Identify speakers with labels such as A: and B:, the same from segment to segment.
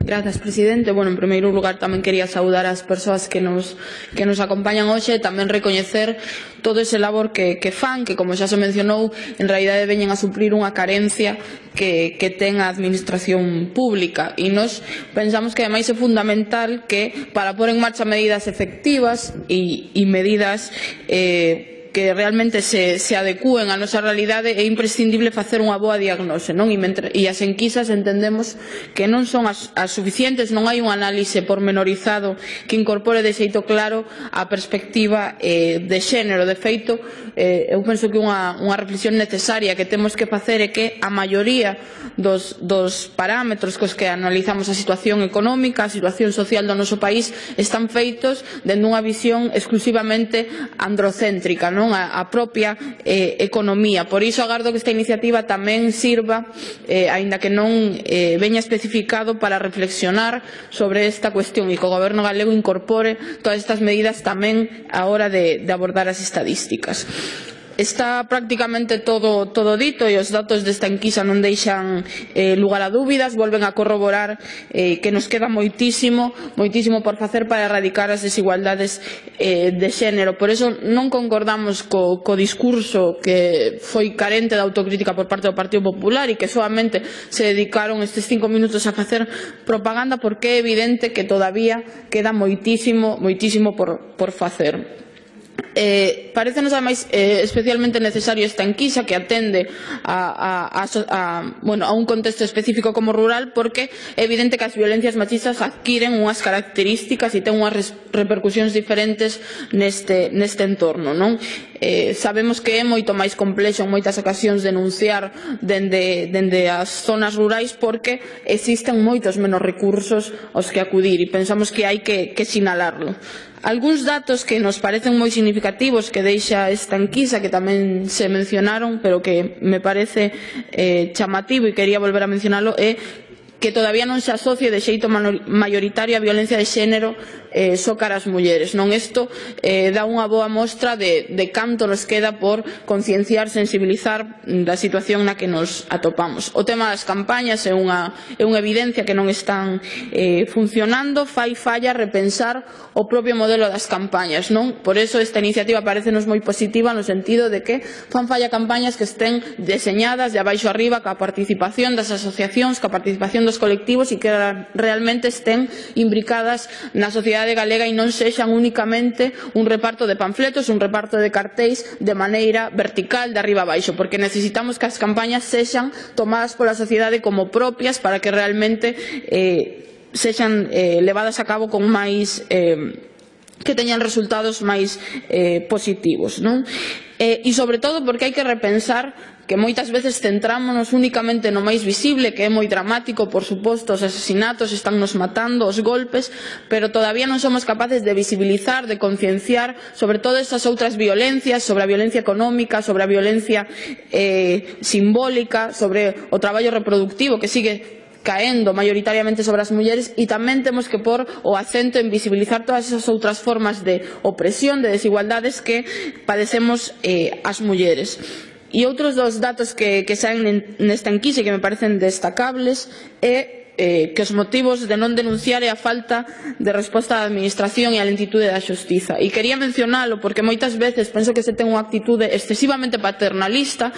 A: Grazas, presidente. Bueno, en primeiro lugar tamén quería saudar as persoas que nos acompañan hoxe e tamén recoñecer todo ese labor que fan, que como xa se mencionou, en realidade veñen a suplir unha carencia que ten a administración pública. E nos pensamos que ademais é fundamental que para pôr en marcha medidas efectivas e medidas que realmente se adecúen á nosa realidade, é imprescindible facer unha boa diagnose, non? E as enquisas entendemos que non son as suficientes, non hai un análise pormenorizado que incorpore de xeito claro a perspectiva de xénero. De feito, eu penso que unha reflexión necesaria que temos que facer é que a maioría dos parámetros cos que analizamos a situación económica, a situación social do noso país, están feitos dende unha visión exclusivamente androcéntrica, non? A propia economía. Por iso agardo que esta iniciativa tamén sirva, aínda que non veña especificado, para reflexionar sobre esta cuestión e que o Goberno galego incorpore todas estas medidas tamén á hora de abordar as estadísticas. Está prácticamente todo dito e os datos desta enquisa non deixan lugar a dúbidas, volven a corroborar que nos queda moitísimo por facer para erradicar as desigualdades de xénero. Por iso non concordamos co discurso que foi carente de autocrítica por parte do Partido Popular e que solamente se dedicaron estes 5 minutos a facer propaganda, porque é evidente que todavía queda moitísimo por facer. Parécenos ademais especialmente necesario esta enquisa que atende a un contexto específico como rural, porque é evidente que as violencias machistas adquiren unhas características e ten unhas repercusións diferentes neste entorno, non? Sabemos que é moito máis complexo en moitas ocasións denunciar dende as zonas rurais, porque existen moitos menos recursos aos que acudir e pensamos que hai que sinalarlo. Algúns datos que nos parecen moi significativos que deixa esta enquisa, que tamén se mencionaron, pero que me parece chamativo e quería volver a mencionalo, é que todavía non se asocie de xeito maioritario a violencia de xénero só cara ás mulleres, non? Isto dá unha boa mostra de canto nos queda por concienciar, sensibilizar da situación na que nos atopamos. O tema das campañas é unha evidencia que non están funcionando. Fai falla repensar o propio modelo das campañas, non? Por iso esta iniciativa parécenos moi positiva, no sentido de que fan falla campañas que estén deseñadas de abaixo arriba, ca participación das asociacións, ca participación dos colectivos e que realmente estén imbricadas na sociedade galega e non sexan únicamente un reparto de panfletos, un reparto de cartéis de maneira vertical, de arriba a baixo, porque necesitamos que as campañas sexan tomadas pola sociedade como propias para que realmente sexan levadas a cabo con máis que teñan resultados máis positivos, non? E sobre todo porque hai que repensar que moitas veces centrámonos únicamente no máis visible, que é moi dramático, por suposto, os asesinatos, estánnos matando, os golpes, pero todavía non somos capaces de visibilizar, de concienciar sobre todas esas outras violencias, sobre a violencia económica, sobre a violencia simbólica, sobre o traballo reproductivo que sigue caendo maioritariamente sobre as mulleres, e tamén temos que pôr o acento en visibilizar todas esas outras formas de opresión, de desigualdades que padecemos as mulleres. E outros dos datos que saen nesta enquisa e que me parecen destacables é que os motivos de non denunciar é a falta de resposta da administración e a lentitude da xustiza. E quería mencionalo porque moitas veces penso que se ten unha actitude excesivamente paternalista,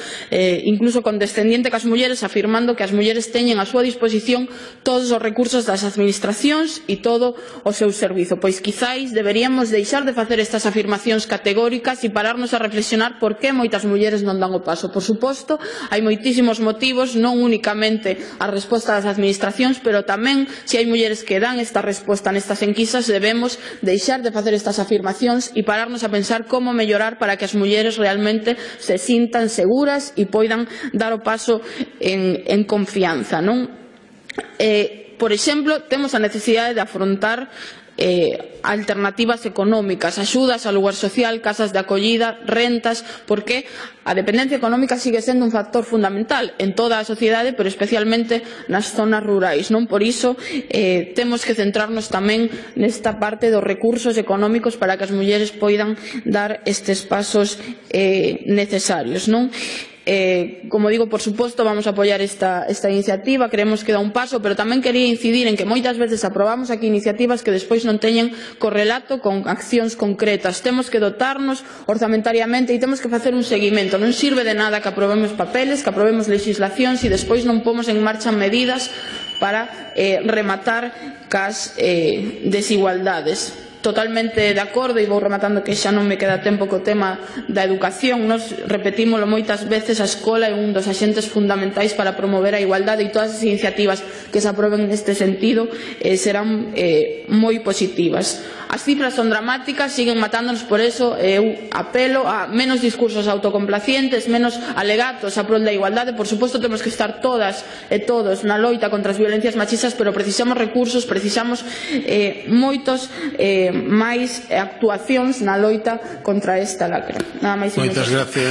A: incluso condescendiente cas mulleres, afirmando que as mulleres teñen a súa disposición todos os recursos das administracións e todo o seu servizo. Pois quizáis deberíamos deixar de facer estas afirmacións categóricas e pararnos a reflexionar por que moitas mulleres non dan o paso. Por suposto, hai moitísimos motivos, non únicamente a resposta das administracións, pero tamén, se hai mulleres que dan esta resposta nestas enquisas, debemos deixar de facer estas afirmacións e pararnos a pensar como mellorar para que as mulleres realmente se sintan seguras e poidan dar o paso en confianza, non? Por exemplo, temos a necesidade de afrontar alternativas económicas, axudas ao lugar social, casas de acollida, rentas, porque a dependencia económica sigue sendo un factor fundamental en toda a sociedade, pero especialmente nas zonas rurais, non? Por iso temos que centrarnos tamén nesta parte dos recursos económicos para que as mulleres poidan dar estes pasos necesarios, non? Como digo, por suposto, vamos a apoiar esta iniciativa, creemos que dá un paso, pero tamén quería incidir en que moitas veces aprobamos aquí iniciativas que despois non teñen correlato con accións concretas. Temos que dotarnos orzamentariamente e temos que facer un seguimento. Non sirve de nada que aprobemos papeles, que aprobemos legislación, se despois non pomos en marcha medidas para rematar cas desigualdades. Totalmente de acordo, e vou rematando que xa non me queda tempo co tema da educación. Nos repetímolo moitas veces, a escola é un dos axentes fundamentais para promover a igualdade e todas as iniciativas que se aproben neste sentido serán moi positivas. As cifras son dramáticas, siguen matándonos, por eso eu apelo a menos discursos autocomplacientes, menos alegatos a prol da igualdade. Por suposto, temos que estar todas e todos na loita contra as violencias machistas, pero precisamos recursos, precisamos moitos máis actuacións na loita contra esta lacra. Nada máis.
B: Moitas gracias.